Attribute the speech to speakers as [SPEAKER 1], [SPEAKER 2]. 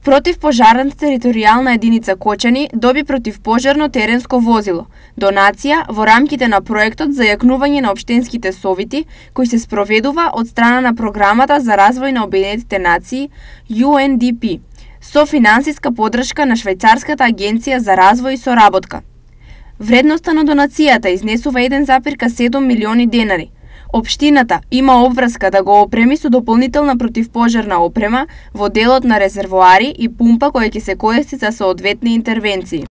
[SPEAKER 1] Противпожарната територијална единица Кочани доби противпожарно теренско возило, донација во рамките на проектот за јакнување на општинските совити, кој се спроведува од страна на Програмата за развој на Обединетите нации UNDP, со финансиска поддршка на Швајцарската агенција за развој и соработка. Вредноста на донацијата изнесува 1,7 милиони денари. Општината има обврска да го опреми со дополнителна противпожарна опрема во делот на резервоари и пумпа која ќе се користи за соодветни интервенции.